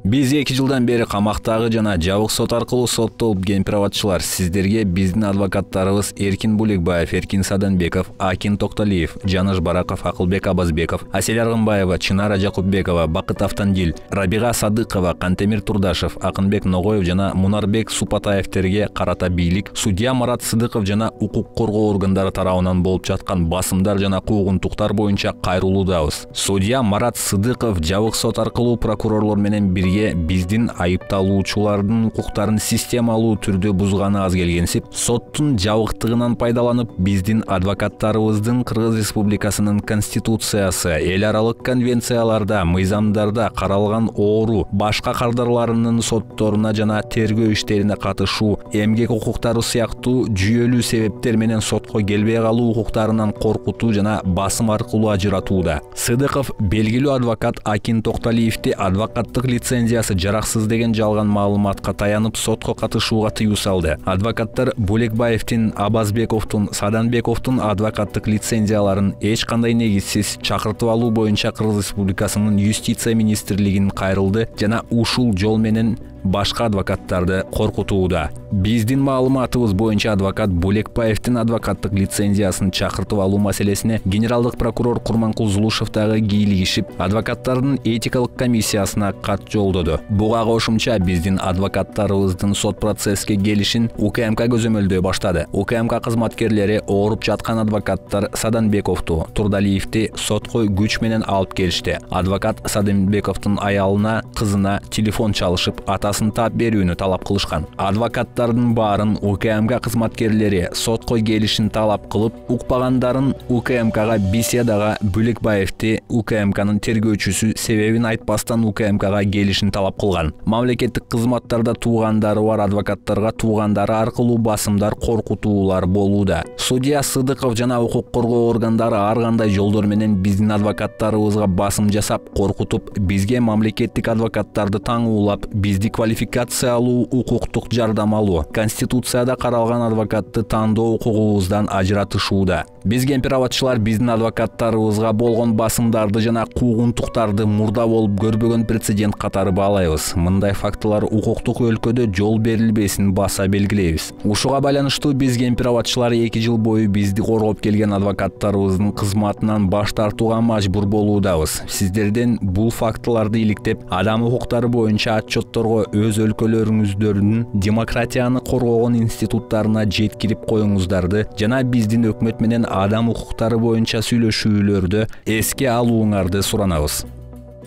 Биз 2 жылдан бери камактагы жана жабык сот аркылуу соттолуп келген пироводчылар сиздерге биздин адвокаттарыбыз Эркин Буликбаев, Эркин Саданбеков, Акин Токталиев, Жаныш Бараков, Акылбек Абазбеков, Асель Аргынбаева, Чынара Жакупбекова, Бакыт Автандил, Рабига Садыкова, Кантемир Турдашев, Акынбек Ногоев жана Мунарбек Супатаевтерге карата бийлик, судья Марат Сыдыков жана укук коргоо органдары тарабынан болуп жаткан басымдар жана куугунтуктар боюнча кайрылуудабыз. Судья Марат Сыдыков жабык сот аркылуу прокурорлор менен биздин айыпталуучулардын укуктарын системалуу түрдө бузганы аз келгенсип, соттун жабыктыгынан пайдаланып, биздин адвокаттарыбыздын Кыргыз Республикасынын Конституциясы, эл аралык конвенцияларда, мыйзамдарда каралган оору, башка кардарларынын сотторуна жана тергөө иштерине катышуу, эмгек укуктары сыяктуу жүйөлүү себептер менен сотко келбей калуу укуктарынан коркутуу жана басым аркылуу ажыратууда. Сыдыков белгилүү адвокат Акин Токталиевди адвокаттык лицензиясы жараксыз деген жалган маалыматка таянып сотко катышууга тыюу салды. Адвокаттар Буликбаевдин, Абазбековдун, Саданбековдун адвокаттык лицензияларын эч кандай негизсиз чакыртып алуу боюнча Кыргыз Республикасынын Юстиция министрлигин кайрылды жана ушул жол менен башка адвокаттарды коркутууда. Биздин маалыматыбыз боюнча адвокат Буликбаевдин адвокаттык лицензиясын чакыртып алуу маселесине генералдык прокурор Курманкул Зулушев дагы кийлигишип, адвокаттардын этикалык комиссиясына кат жолдоду. Буга кошумча биздин адвокаттарыбыздын сот процесске келишин УКМК көзөмөлдөй баштады. УКМК кызматкерлери ооруп жаткан адвокаттар Саданбековду, Турдалиевди сотко күч менен алып келишти. Адвокат Саданбековдун аялына, кызына телефон чалышып, атасын таап берүүнү талап кылышкан. Адвокаттардын баарын УКМК кызматкерлери сотко келишин талап кылып, укпагандарын УКМКга беседага Буликбаевди УКМКнын тергөөчүсү себебин айтпастан УКМКга келишин талап кылган. Мамлекеттик кызматтарда туугандары бар адвокаттарга туугандары аркылуу басымдар, коркутуулар болууда. Судья Сыдыков жана укук коргоо органдары ар кандай жолдор менен биздин адвокаттарыбызга басым жасап, коркутуп, бизге мамлекеттик адвокаттарды таңуулап, бизди квалификациялуу укуктук жардам алуу, Конституцияда каралган адвокатты тандоо укугубуздан ажыратышууда. Бизге пироводчылар биздин адвокаттарыбызга болгон басымдарды жана куугунтуктарды мурда болуп көрбөгөн прецедент катары баалайбыз. Мындай фактылар укуктук өлкөдө жол берилбесин баса белгилейбиз. Ушуга байланыштуу бизге пироводчылар 2 жыл бою бизди коргоп келген адвокаттарыбыздын кызматынан баш тартууга мажбур болуудабыз. Сиздерден бул фактыларды иликтеп, адам укуктары боюнча отчетторго өз өлкөлөрүңүздөрдүн демократияны коргогон институттарына жеткирип коюңуздарды жана биздин өкмөт менен адам укуктары боюнча сүйлөшүүлөрдө эске алууңарды суранабыз.